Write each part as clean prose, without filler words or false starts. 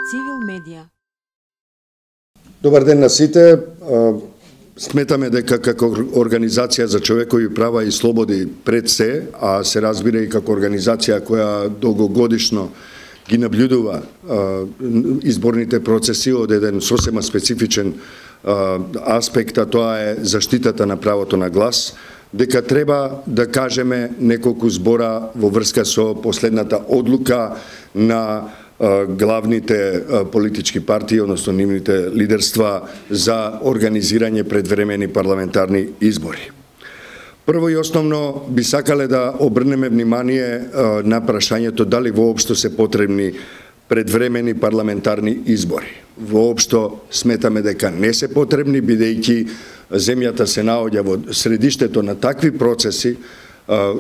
Цивил медија. Добар ден на сите. Сметаме дека како Организација за човекови права и слободи пред се, а се разбира и како организација која долгогодишно ги наблюдува изборните процеси од еден сосема специфичен аспект, а тоа е заштитата на правото на глас, дека треба да кажеме неколку збора во врска со последната одлука на главните политички партии, односно нивните лидерства за организирање предвремени парламентарни избори. Прво и основно би сакале да обрнеме внимание на прашањето дали воопшто се потребни предвремени парламентарни избори. Воопшто сметаме дека не се потребни, бидејќи земјата се наоѓа во средиштето на такви процеси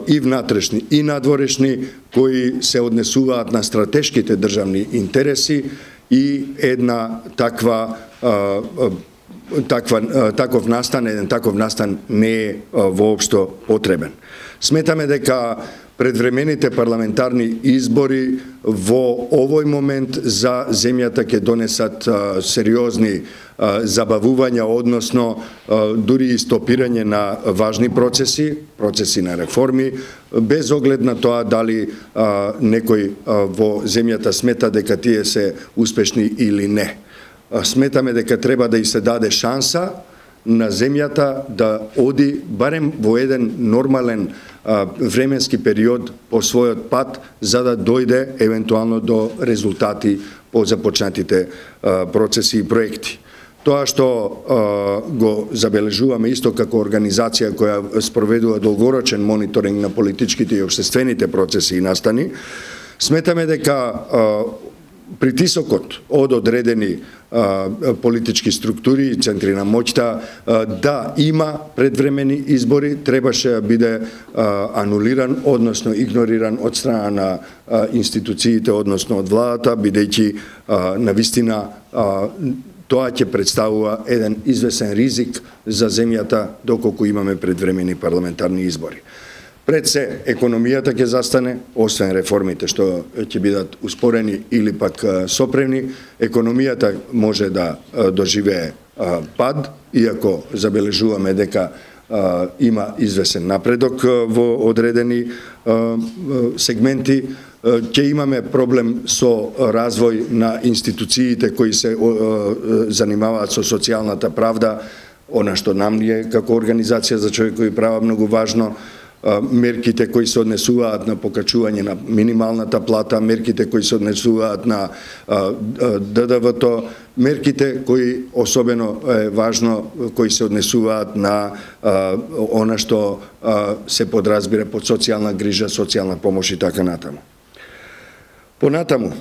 и внатрешни и надворешни, кои се однесуваат на стратешките државни интереси и една таков настан не е воопшто потребен. Сметаме дека предвремените парламентарни избори во овој момент за земјата ќе донесат сериозни забавувања, односно дури и стопирање на важни процеси на реформи, без оглед на тоа дали некој во земјата смета дека тие се успешни или не. Сметаме дека треба да и се даде шанса на земјата да оди барем во еден нормален временски период по својот пат, за да дојде евентуално до резултати по започнатите процеси и проекти. Тоа што го забележуваме исто како организација која спроведува долгорочен мониторинг на политичките и општествените процеси и настани, сметаме дека притисокот од одредени политички структури и центри на моќта да има предвремени избори требаше да биде анулиран, односно игнориран од страна на институциите, односно од владата, бидејќи навистина тоа ќе представува еден извесен ризик за земјата доколку имаме предвремени парламентарни избори. Пред се, економијата ќе застане, освен реформите што ќе бидат успорени или пак сопрени, економијата може да доживее пад, иако забележуваме дека има извесен напредок во одредени сегменти. Ќе имаме проблем со развој на институциите кои се занимаваат со социјалната правда, она што нам е како Организација за човекови права многу важно, мерките кои се однесуваат на покачување на минималната плата, мерките кои се однесуваат на ДДВ-то, мерките кои особено е важно, кои се однесуваат на она што се подразбира под социјална грижа, социјална помош и така натаму. Понатаму,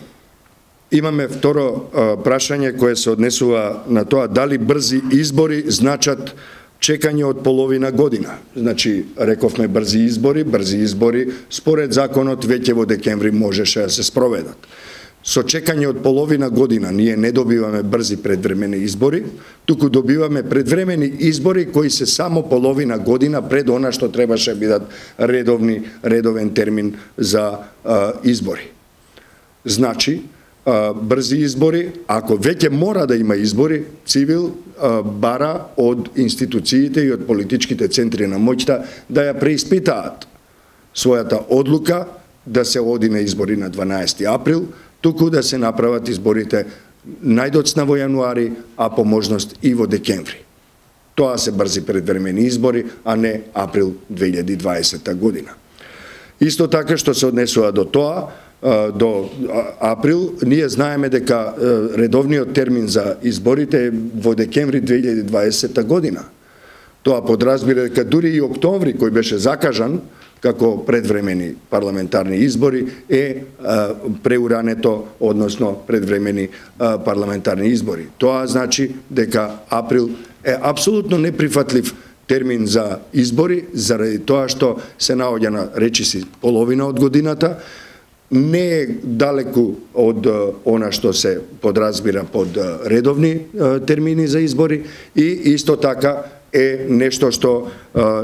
имаме второ прашање кое се однесува на тоа дали брзи избори значат чекање од половина година. Значи, рековме брзи избори, според законот веќе во декември можеше да се спроведат. Со чекање од половина година ние не добиваме брзи предвремени избори, туку добиваме предвремени избори кои се само половина година пред она што требаше да бидат редовен термин за избори. Значи, брзи избори, ако веќе мора да има избори, Цивил бара од институциите и од политичките центри на моќта да ја преиспитаат својата одлука да се оди на избори на 12 април, туку да се направат изборите најдоцна во јануари, а по можност и во декември. Тоа се брзи предвремени избори, а не април 2020 година. Исто така што се однесува до тоа, до април, ние знаеме дека редовниот термин за изборите е во декември 2020 година. Тоа подразбира дека дури и октомври, кој беше закажан како предвремени парламентарни избори, е преурането, односно предвремени парламентарни избори. Тоа значи дека април е апсолутно неприфатлив термин за избори, заради тоа што се наоѓа на речиси половина од годината, не е далеку од она што се подразбира под редовни термини за избори и исто така е нешто што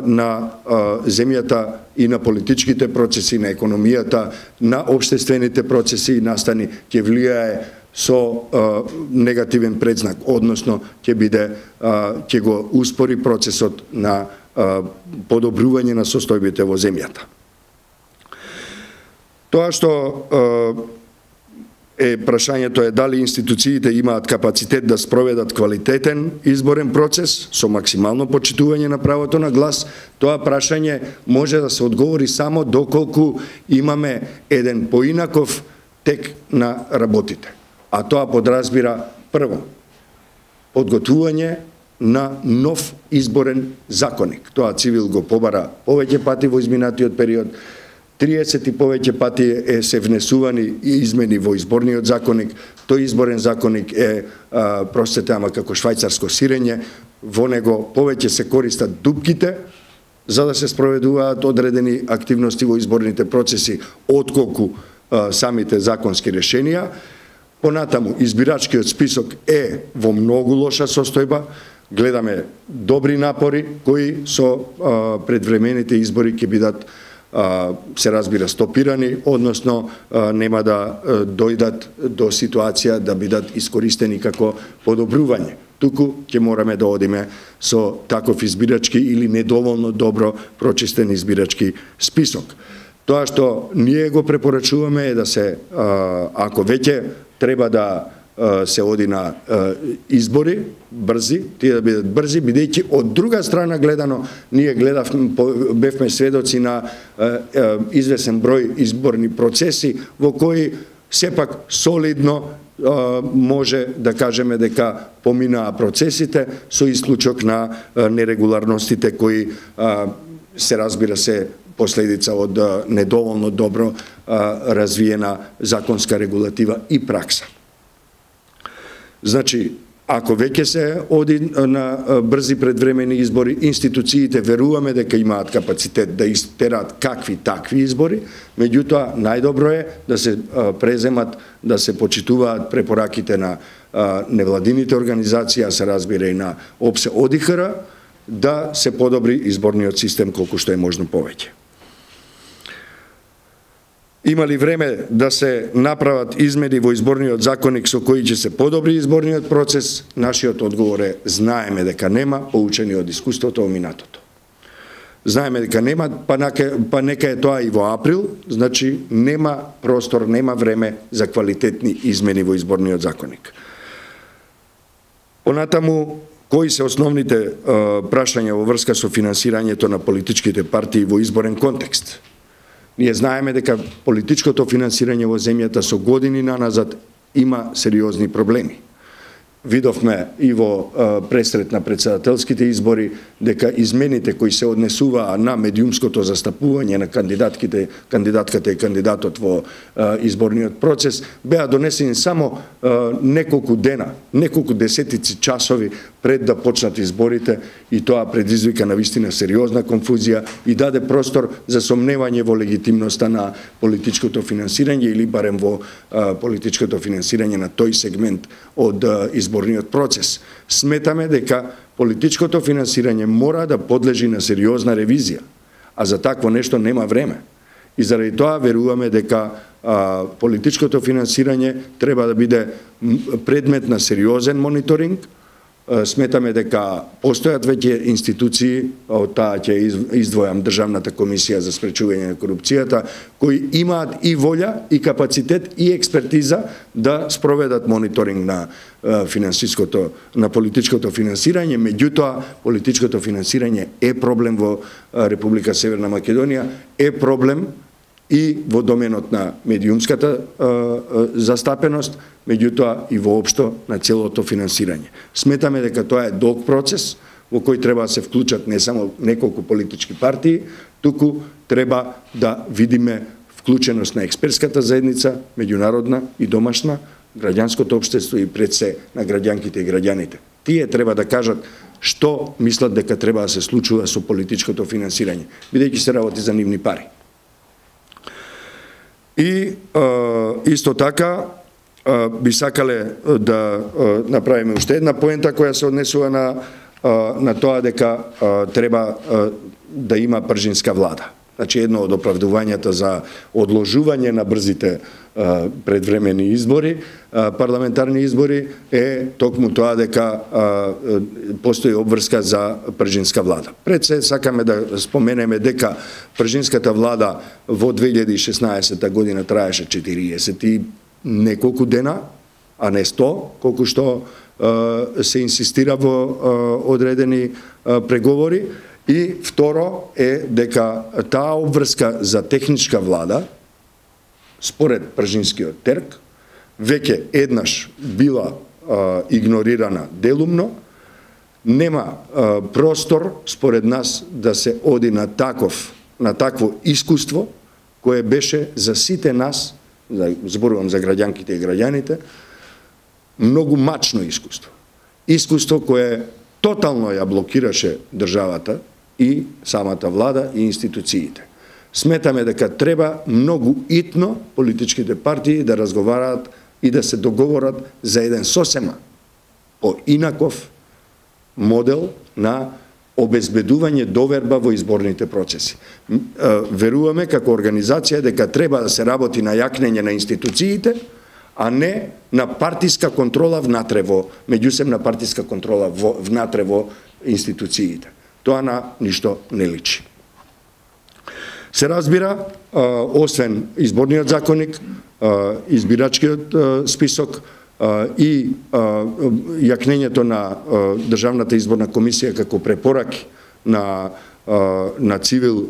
на земјата и на политичките процеси, на економијата, на општествените процеси и настани ќе влијае со негативен предзнак, односно ќе го успори процесот на подобрување на состојбите во земјата. Тоа што прашањето е дали институциите имаат капацитет да спроведат квалитетен изборен процес со максимално почитување на правото на глас. Тоа прашање може да се одговори само доколку имаме еден поинаков тек на работите. А тоа подразбира прво подготвување на нов изборен законник. Тоа Цивил го побара повеќе пати во изминатиот период. 30 и повеќе пати се внесувани измени во изборниот законник. Тој изборен законник е, простете, ама како швајцарско сирење. Во него повеќе се користат дупките за да се спроведуваат одредени активности во изборните процеси, отколку самите законски решенија. Понатаму, избирачкиот список е во многу лоша состојба. Гледаме добри напори кои со предвремените избори ќе бидат се разбира стопирани, односно нема да дојдат до ситуација да бидат искористени како подобрување. Туку ќе мораме да одиме со таков избирачки или недоволно добро прочистен избирачки список. Тоа што ние го препорачуваме е да се, ако веќе треба да се оди на избори, брзи, тие да бидат брзи, бидејќи од друга страна гледано, ние бевме сведоци на извесен број изборни процеси во кои сепак солидно може да кажеме дека поминаа процесите со исклучок на нерегуларностите кои се разбира се последица од недоволно добро развиена законска регулатива и пракса. Значи, ако веќе се оди на брзи предвремени избори, институциите веруваме дека имаат капацитет да истерат какви такви избори, меѓутоа најдобро е да се преземат, да се почитуваат препораките на невладините организации, а се разбира и на ОПСЕ ОДИХР, да се подобри изборниот систем колку што е можно повеќе. Има ли време да се направат измени во изборниот законник со кои ќе се подобри изборниот процес? Нашиот одговор е знаеме дека нема, поучени од искуството во минатото. Знаеме дека нема, па нека е тоа и во април, значи нема простор, нема време за квалитетни измени во изборниот законник. Понатаму, кои се основните прашања во врска со финансирањето на политичките партии во изборен контекст? Ние знаеме дека политичкото финансирање во земјата со години наназад има сериозни проблеми. Видовме и во пресрет на претседателските избори дека измените кои се однесуваа на медиумското застапување на кандидатката и кандидатот во изборниот процес беа донесени само неколку дена, неколку десетици часови пред да почнат изборите, и тоа предизвика навистина сериозна конфузија и даде простор за сомневање во легитимноста на политичкото финансирање или барем во политичкото финансирање на тој сегмент од изборниот процес. Сметаме дека политичкото финансирање мора да подлежи на сериозна ревизија, а за такво нешто нема време. И заради тоа веруваме дека политичкото финансирање треба да биде предмет на сериозен мониторинг. Сметаме дека постојат веќе институции, од таа ќе издвојам Државната комисија за спречување на корупцијата, кои имаат и волја, и капацитет, и експертиза да спроведат мониторинг на на политичкото финансирање. Меѓутоа, политичкото финансирање е проблем во Република Северна Македонија, е проблем и во доменот на медиумската застапеност, меѓутоа и воопшто на целото финансирање. Сметаме дека тоа е долг процес во кој треба да се вклучат не само неколку политички партии, туку треба да видиме вклученост на експертската заедница, меѓународна и домашна, граѓанското општество и пред се на граѓанките и граѓаните. Тие треба да кажат што мислат дека треба да се случува со политичкото финансирање, бидејќи се работи за нивни пари. И исто така би сакале да направиме уште една поента која се однесува на тоа дека треба да има пржинска влада. Значи, едно од оправдувањата за одложување на брзите предвремени избори, парламентарни избори, е токму тоа дека постои обврска за пржинска влада. Пред се сакаме да споменеме дека пржинската влада во 2016 година траеше 40 и неколку дена, а не 100, колку што се инсистира во одредени преговори. И второ е дека таа обврска за техничка влада, според пржинскиот терк, веќе еднаш била игнорирана делумно, нема простор, според нас, да се оди на такво искуство, кое беше за сите нас, зборувам за граѓанките и граѓаните, многу мачно искуство. Искуство кое тотално ја блокираше државата и самата влада и институциите. Сметаме дека треба многу итно политичките партии да разговараат и да се договорат за еден сосема поинаков модел на обезбедување доверба во изборните процеси. Веруваме како организација дека треба да се работи на јакнење на институциите, а не на партиска контрола внатре во, меѓусебна партиска контрола внатре во институциите. Тоа на ништо не личи. Се разбира, освен изборниот законник, избирачкиот список и јакнењето на Државната изборна комисија како препораки на цивил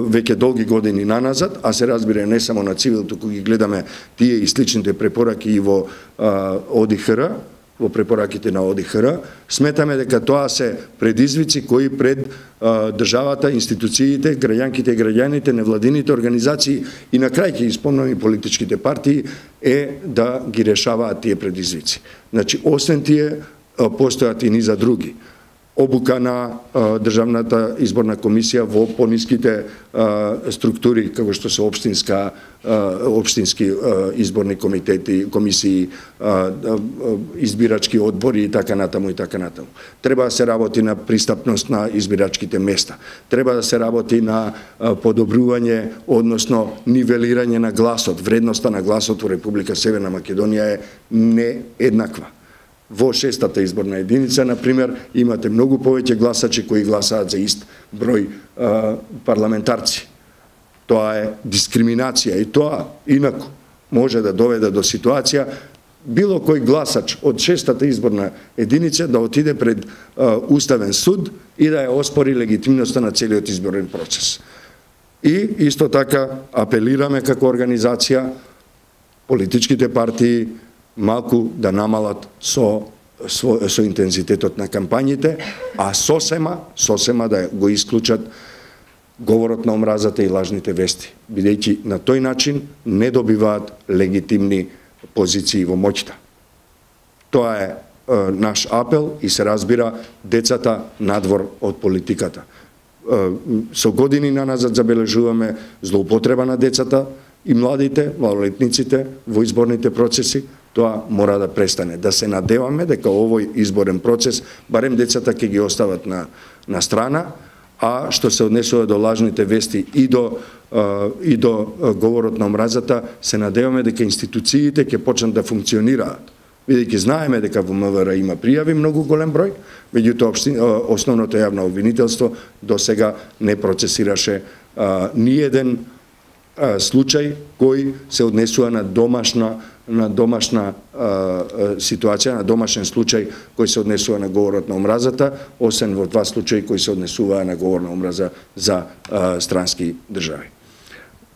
веќе долги години наназад, а се разбира не само на цивил, туку ги гледаме тие и сличните препораки и во ОДИХР, во препораките на ОДИХР, сметаме дека тоа се предизвици кои пред државата, институциите, граѓанките и граѓаните, невладините организации и на крај ќе исполнени политичките партии е да ги решаваат тие предизвици. Значи, освен тие, постојат и низа други. Обука на Државната изборна комисија во пониските структури, како што се општински изборни комитети, комисии, избирачки одбори и така натаму и така натаму. Треба да се работи на пристапност на избирачките места. Треба да се работи на подобрување, односно нивелирање на гласот. Вредноста на гласот во Република Северна Македонија е нееднаква. Во 6-та изборна единица, например, имате многу повеќе гласачи кои гласаат за ист број парламентарци. Тоа е дискриминација и тоа инаку може да доведе до ситуација било кој гласач од 6-та изборна единица да отиде пред Уставен суд и да ја оспори легитимноста на целиот изборен процес. И исто така апелираме како организација политичките партии малку да намалат со интензитетот на кампањите, а сосема да го исклучат говорот на омразата и лажните вести, бидејќи на тој начин не добиваат легитимни позиции во моќта. Тоа е наш апел и се разбира децата надвор од политиката. Со години наназад забележуваме злоупотреба на децата и младите, малолетниците во изборните процеси. Тоа мора да престане. Да се надеваме дека овој изборен процес, барем децата ќе ги остават на страна, а што се однесува до лажните вести и до говорот на омразата, се надеваме дека институциите ќе почнат да функционираат. Бидејќи знаеме дека во МВР има пријави многу голем број, меѓутоа основното јавно обвинителство до сега не процесираше ниеден случај кој се однесува на домашна ситуација, на домашен случај кој се однесува на говорот на омразата, освен во 2 случаи кои се однесуваа на говор на омраза за странски држави.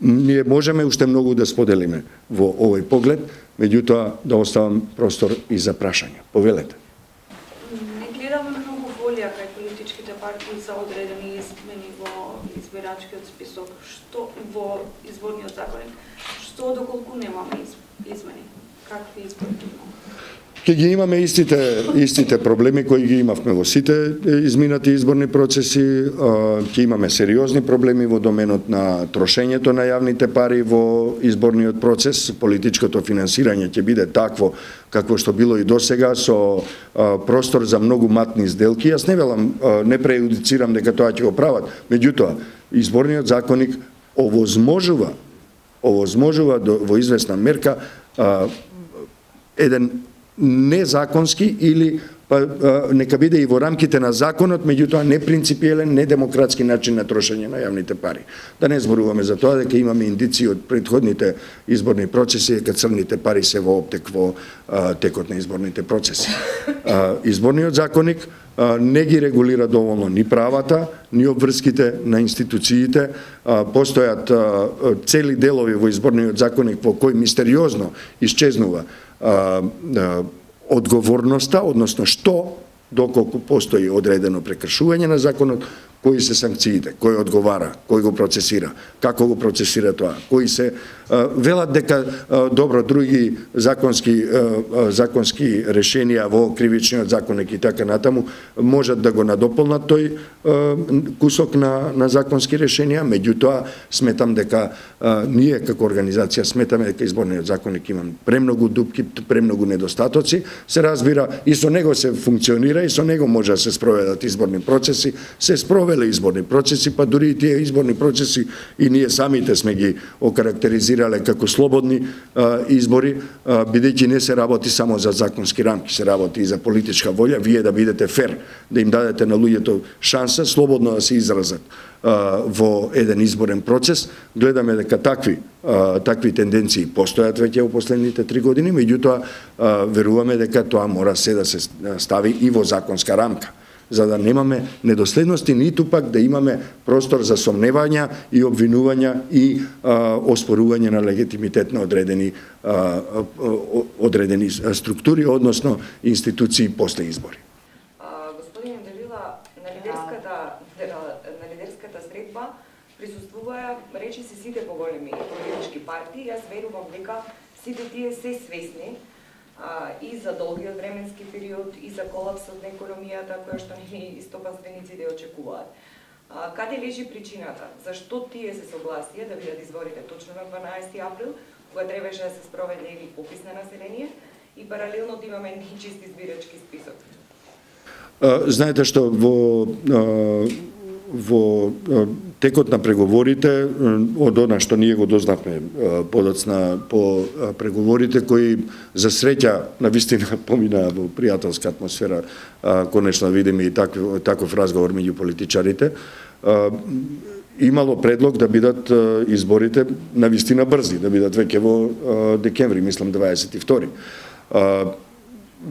Ние можеме уште многу да споделиме во овој поглед, меѓутоа да оставам простор и за прашања. Повелете. Не гледаме многу волја кај политичките партии за одредени измени во избирачкиот список, што во изборниот законник, што доколку немаме измени, какви избори имаме? Ке ги имаме истите проблеми кои ги имавме во сите изминати изборни процеси, ќе имаме сериозни проблеми во доменот на трошењето на јавните пари во изборниот процес, политичкото финансирање ќе биде такво какво што било и досега, со простор за многу матни сделки. Јас не велам, не преюдицирам дека тоа ќе го прават, меѓутоа изборниот законник овозможува во известна мерка еден незаконски или нека биде и во рамките на законот, меѓутоа не принципиелен, не демократски начин на трошење на јавните пари. Да не зборуваме за тоа дека имаме индици од претходните изборни процеси дека црните пари се во оптек во текот на изборните процеси. Изборниот законник не ги регулира доволно ни правата, ни обврските на институциите. Постојат цели делови во изборниот законник во кој мистериозно исчезнува одговорноста, односно што, доколку постои одредено прекршување на законот, кои се санкциите, кој одговара, кој го процесира, како го процесира тоа, кои се велат дека добро други законски решенија во кривичниот законник и така натаму можат да го надополнат тој кусок на законски решенија, меѓутоа сметам дека ние како организација сметаме дека изборниот законник има премногу дупки, премногу недостатоци, се разбира и со него се функционира и со него може да се спроведат изборни процеси, се спровеле изборни процеси, па дури и тие изборни процеси и ние самите сме ги окарактеризирале како слободни избори, бидејќи не се работи само за законски рамки, се работи и за политичка волја, вие да бидете фер, да им дадете на луѓето шанса слободно да се изразат во еден изборен процес. Гледаме дека такви тенденции постојат веќе во последните 3 години, меѓутоа веруваме дека тоа мора се да се стави и во законска рамка, за да немаме недоследности, ниту пак да имаме простор за сомневања и обвинувања и оспорување на легитимитет на одредени структури, односно институции после избори. Господин Делила, на лидерската средба присуствуваа речиси сите поголеми политички партии. Јас верувам дека сите тие се свесни и за долгиот временски период, и за колапсот на економијата, која што нели стопанствениците очекуваат. Каде лежи причината? Зашто тие се согласија да бидат изборите точно на 12 април, кога требаше да се спроведе или попис на население, и паралелно да имаме нечист избирачки список? Знаете што, во текот на преговорите, од она што ние го дознавме подоцна по преговорите, кои за среќа навистина поминаа во пријателска атмосфера, конечно видиме и таков разговор меѓу политичарите, имало предлог да бидат изборите навистина брзи, да бидат веќе во декември, мислам 22.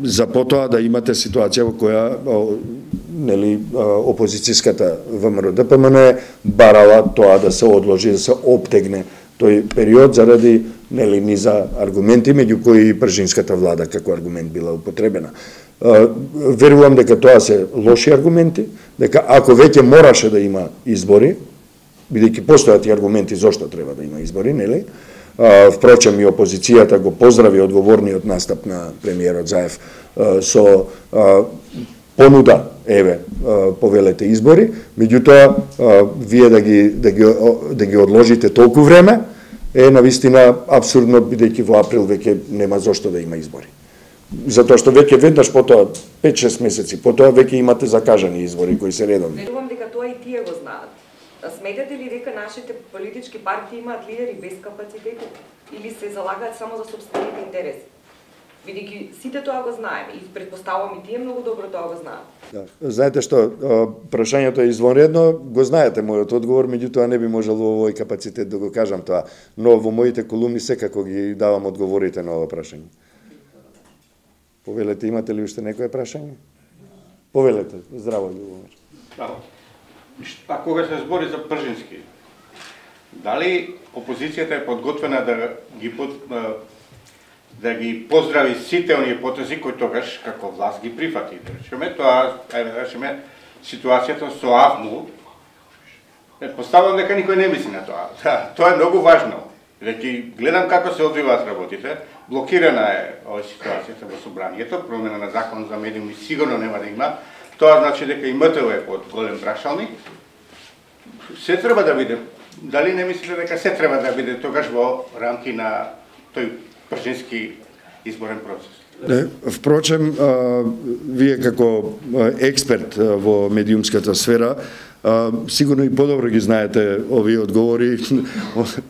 За потоа да имате ситуација во која опозицијската ВМРО-ДПМН барала тоа да се одложи, да се оптегне тој период заради низа аргументи, меѓу кои и пржинската влада како аргумент била употребена. Верувам дека тоа се лоши аргументи, дека ако веќе мораше да има избори, бидејќи постојат и аргументи зошто треба да има избори, нели? Впрочем, и опозицијата го поздрави одговорниот настап на премиерот Заев со понуда, еве, повелете избори, меѓутоа, вие да ги одложите толку време, е навистина абсурдно, бидејќи во април веќе нема зошто да има избори. Затоа што веќе веднаш потоа, 5-6 месеци, потоа веќе имате закажани избори кои се редовни. Верувам дека тоа и тие го знаат. Сметате ли дека нашите политички партии имаат лидери без капацитет или се залагаат само за сопствените интереси? Бидејќи сите тоа го знаеме и претпоставувам и тие многу добро тоа го знаат. Да. Знаете што, прашањето е извонредно, го знаете мојот одговор, меѓутоа не би можел во овој капацитет да го кажам тоа, но во моите колумни секако ги давам одговорите на ова прашање. Повелете, имате ли уште некое прашање? Повелете, здраво, Љубомир. Да. А кога се збори за пржински, дали опозицијата е подготвена да ги поздрави сите оние потези кои тогаш како власт ги прифати? Речеме тоа, речеме ситуацијата со АВМУ, поставам дека никој не мисли на тоа. Тоа е многу важно. Бидејќи гледам како се одвиваат работите, блокирана е ова ситуацијата во собранието, промена на закон за медиуми сигурно нема да има. Тоа значи дека и МТВ е под голем прашалник. Се треба да биде, дали не мислите дека се треба да биде тогаш во рамки на тој пржински изборен процес? Не, впрочем, вие како експерт во медиумската сфера, сигурно и подобро ги знаете овие одговори.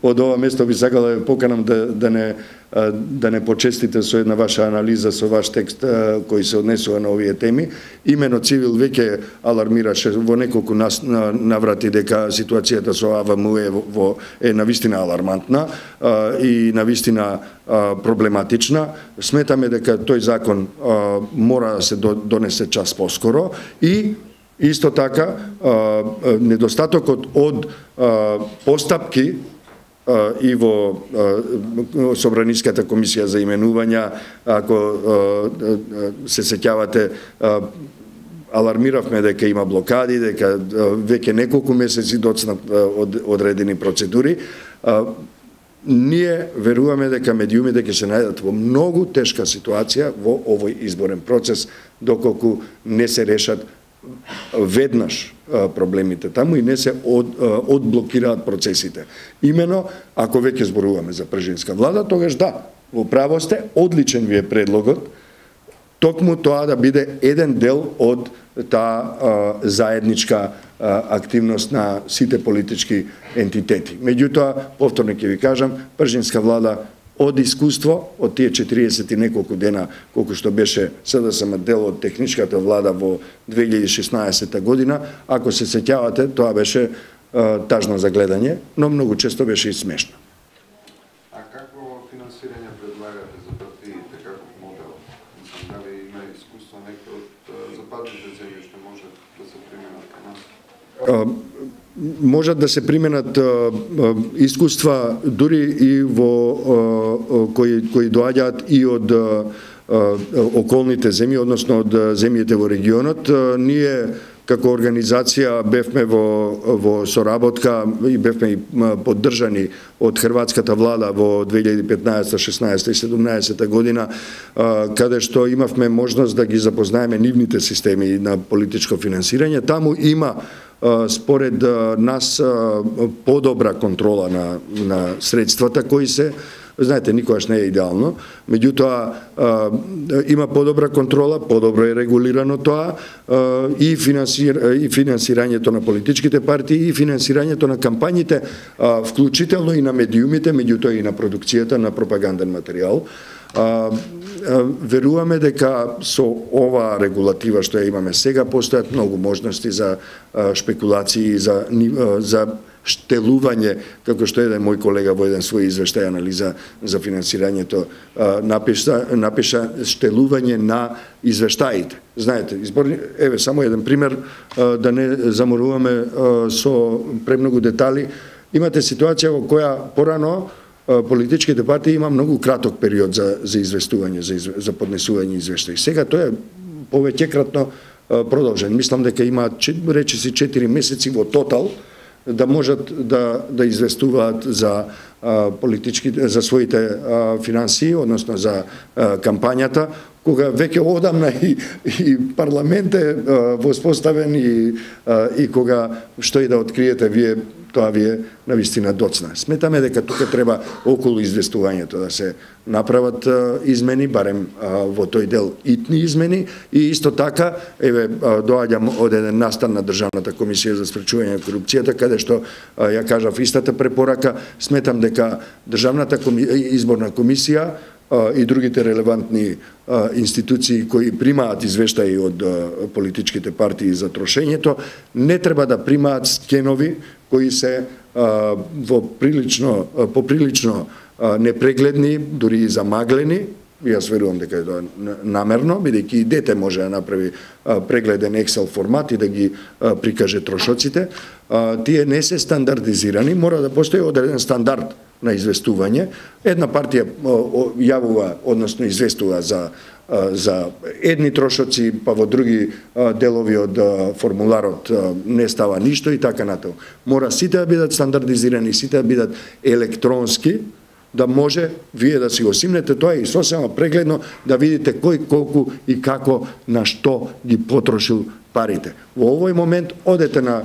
Од ова место би сакал да поканам да не почестите со една ваша анализа, со ваш текст кој се однесува на овие теми. Имено Цивил веќе алармираше во неколку наврати дека ситуацијата со АВМУ е навистина алармантна и навистина проблематична. Сметаме дека тој закон мора да се донесе час поскоро и исто така недостатокот од постапки и во Собраниската комисија за именувања, ако се сеќавате, алармиравме дека има блокади, дека веќе неколку месеци доцнат одредени процедури. Ние веруваме дека медиумите ќе се најдат во многу тешка ситуација во овој изборен процес, доколку не се решат веднаш проблемите таму и не се одблокираат процесите. Имено, ако веќе зборуваме за пржинска влада, тогаш да, во право сте, одличен ви е предлогот, токму тоа да биде еден дел од таа заедничка активност на сите политички ентитети. Меѓутоа, повторно ќе ви кажам, пржинска влада од искуство, од тие 40 и неколку дена, колку што беше СДСМ дел од техничката влада во 2016 година, ако се сеќавате, тоа беше тажно за гледање, но многу често беше и смешно. А какво финансирање предлагате за партиите, каков модел? Мислам, дали има искуство некој од западните земји што може да се применат кон нас? Можат да се применат искуства дури и во кои доаѓаат и од околните земји, односно од земјите во регионот. Ние како организација бевме во соработка и бевме поддржани од хрватската влада во 2015, 16 и 17 година, каде што имавме можност да ги запознаеме нивните системи на политичко финансирање. Таму има според нас подобра контрола на средствата кои се, знаете, никогаш не е идеално, меѓутоа има подобра контрола, подобро е регулирано тоа и финансирањето на политичките партии и финансирањето на кампањите, вклучително и на медиумите, меѓутоа и на продукцијата на пропаганден материјал. Веруваме дека со ова регулатива што ја имаме сега постојат многу можности за шпекулации, за штелување, како што еден мој колега во еден свој извештај анализа за финансирањето напиша штелување на извештаите. Знаете, еве само еден пример, да не заморуваме со премногу детали. Имате ситуација во која порано политичките партии има многу краток период за известување, за поднесување извештаи. Сега тоа е повеќекратно продолжен. Мислам дека има речиси 4 месеци во тотал да можат да известуваат за за своите финансии, односно за кампањата, кога веќе одамна и парламент е воспоставен и кога што и да откриете вие, тоа ви е навистина доцна. Сметаме дека тука треба околу известувањето да се направат измени, барем во тој дел итни измени, и исто така, еве, доаѓам од еден настан на Државната комисија за спречување на корупцијата, каде што ја кажав истата препорака. Сметам дека Државната изборна комисија и другите релевантни институции кои примаат извештаи од политичките партии за трошењето, не треба да примаат скенови кои се поприлично непрегледни, дури и замаглени. Јас верувам дека е тоа намерно, бидејќи и дете може да направи прегледен Excel формат и да ги прикаже трошоците. Тие не се стандардизирани, мора да постои одреден стандард на известување. Една партија јавува, односно известува за едни трошоци, па во други делови од формуларот не става ништо и така натаму. Мора сите да бидат стандардизирани, сите да бидат електронски, да може вие да си го симнете тоа и сосема прегледно да видите кој колку и како на што ги потрошил парите. Во овој момент одете на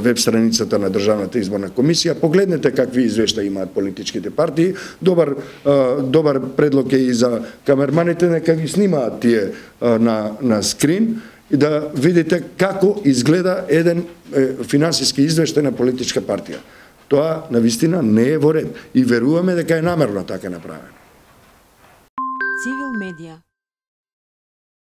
веб страницата на Државната изборна комисија, погледнете какви извештаи имаат политичките партии. Добар предлог е и за камерманите, нека ги снимаат тие на скрин и да видите како изгледа еден финансиски извештај на политичка партија. Тоа навистина не е во ред и веруваме дека е намерно така направено. Цивил медија